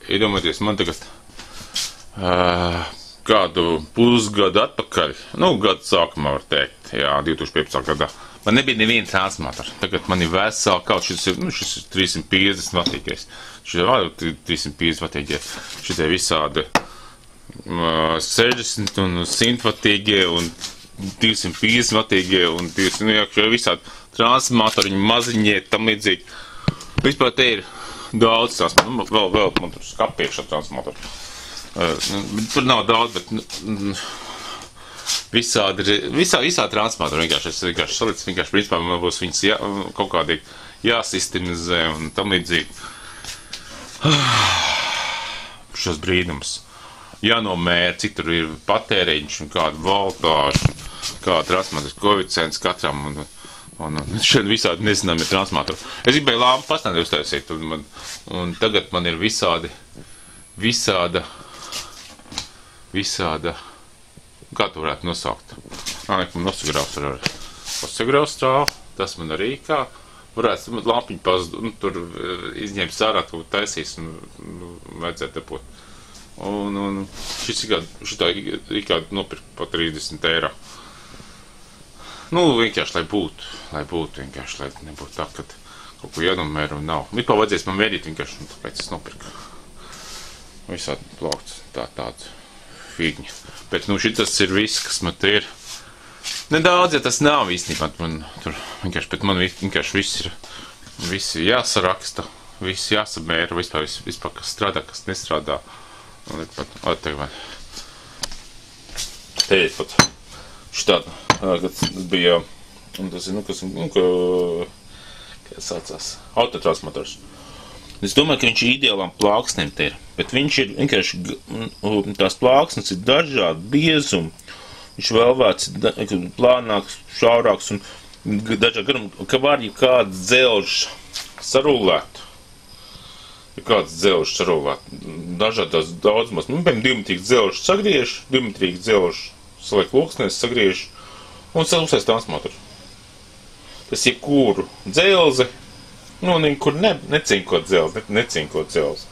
iedomājieties, man tagad kādu pusgadu atpakaļ, gadu sākumā var teikt, 2015. gadā, man nebija neviena transformatora. Tagad man ir vesela kaut šis ir 350 vatīgais. Šis ir 350 vatīgie. Šitie visādi 60 un 100 vatīgie un 250 vatīgie un 200, visādi transformatori, maziņie, tam līdzīgi. Vispār te ir daudz transformatori. Vēl man tur skapiekšā transformatori. Tur nav daudz, bet visā transformatori vienkārši salicis, vienkārši principā man būs viņas kaut kādīgi jāsistemizē un tam līdzīgi. Šos brīnums. Jānomēr, cik tur ir patēriņš un kāda voltāža, kāda transformators koeficients katram un šeit visādi nezināmie transformatori. Es gribēju lampu pastāvēt uztaisīt un tagad man ir visāda, kā tu varētu nosaukt? Nosagraust strāvu, tas man arī kā varētu lampiņu tur izņemt sārā, tu taisīs un vajadzētu depot. Un šitā ir kādu nopirkt pa 30 eiro. Vienkārši, lai būtu vienkārši, lai nebūtu tā, ka kaut ko jānomēr un nav. Vispār vajadzēs man mērīt vienkārši, un tāpēc es nopirku. Visādi plaukts, tāds figņi. Bet, šitas ir viss, kas man te ir. Nedaudz, ja tas nav īstenībā, man tur vienkārši, bet man vienkārši viss ir jāsaraksta, viss jāsamēra, vispār, kas strādā, kas nestrādā. Un te ir pat šitāda, kad bija, un tas ir, kā saucās, autotransformators. Es domāju, ka viņš ir ideālām plāksnēm te ir, bet viņš ir vienkārši, tās plāksnes ir dažādi biezumi, viņš vēl vērts plānāks, šaurāks un dažādi garumi, ka var jau kāds dzelžs sarulēt. Ja kāds dzelžs sarulēt, dažādās daudzumās, piemēram, dimetrīgs dzelžs sagriež, dimetrīgs dzelžs saliek loksnēs, sagriež un uztais transformatoru. Tas jebkuru dzelzi, kur necinkot dzelzi, necinkot dzelzi.